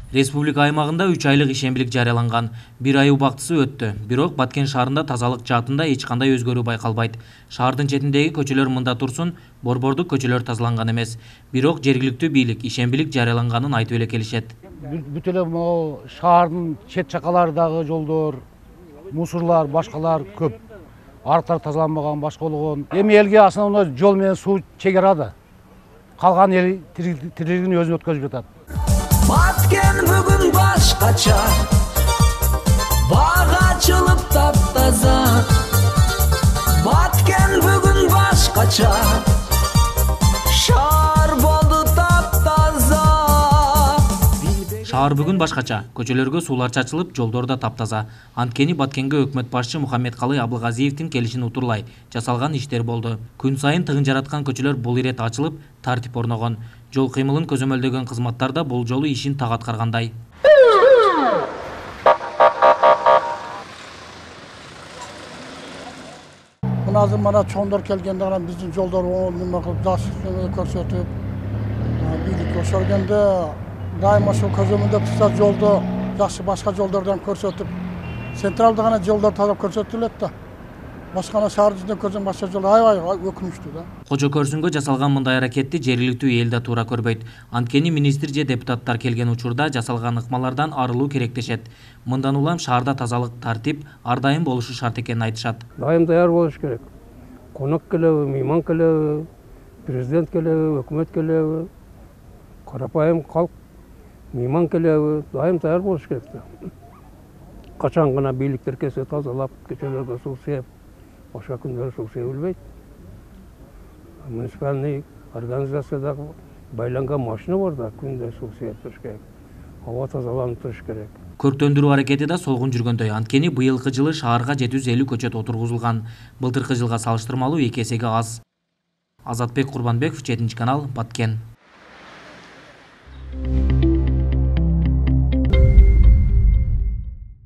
Республика аймагында 3 айлык ишембилик жарыяланган. 1 ай убактысы өттү. Бирок Баткен шаарында тазалык жаатында эч кандай өзгөрүү байкалбайт. Шаардын четиндеги көчөлөр мында турсун, борбордук көчөлөр тазаланган эмес. Бирок жергиликтүү бийлик ишембилик жарыяланганын айтып эле келишет. Бүт эле могу шаардын чет жакаларындагы жолдор, мусорлар, башкалар көп. Арыктар тазаланбаган, башка болгон. Эми элге основной жол менен суу чегерады. Калган эл тирилигин өзүнө өткөзүп жатат. Баткен бүгүн башкача, бага ачылып таптаза. Баткен бүгүн башкача, шаар болду таптаза. Шаар бүгүн башкача, көчөлөргө суулар чачылып, жолдор да таптаза. Анткени Баткенге өкмөт башчы Мухаммедкалый Абылгазиевдин келишин утурлай жасалган иштер болду. Күн сайын тыгын жараткан көчөлөр бул ирет ачылып, тартип орногон. Жол кыймылын көзөмөлдөгөн кызматтар да бул жолу ишин так аткаргандай. Азыр мана чоңдор келгенде гана биздин жолдор жакшы көрсөтүп, бийлик ошолгенде дайыма ошол көзөмөлдөп турса жолду жакшы башка жолдордон көрсөтүп, централда гана жолдор тазалап көрсөтүлөт да. Башкана шаар жүзүндө көрсөң башка жолдор аябай өкүнүчтүү да. Кожо көрсүнгө жасалган мындай аракетти жергиликтүү эл да туура көрбөйт. Анткени министр же депутаттар келген учурда жасалган ыкмалардан арылуу керек дешет. Мындан улам шаарда тазалык, тартип ар дайым болушу шарт экенин айтышат. Дайым даяр болуш керек. Конок келеби, мейман келеби, президент келеби, өкмөт келеби, карапайым калк мейман келеби, дайым даяр болуш керек да. Качан гана бийликтер келсе тазалап, көчөлөргө суу сээп, башка күндөрү суу себилбейт. Муниципальный организациядагы байланган машина бар да, күндө суу сээп туруш керек. Аба тазаланып туруш керек. Көрктөндүрүү аракети да солгун жүргөндөй. Анткени быйылкы жылы шаарга 750 көчөт отургузулган. Былтыркы жылга салыштырмалуу 2 эсеге аз. Азатбек Курбанбеков, 7 канал, Баткен.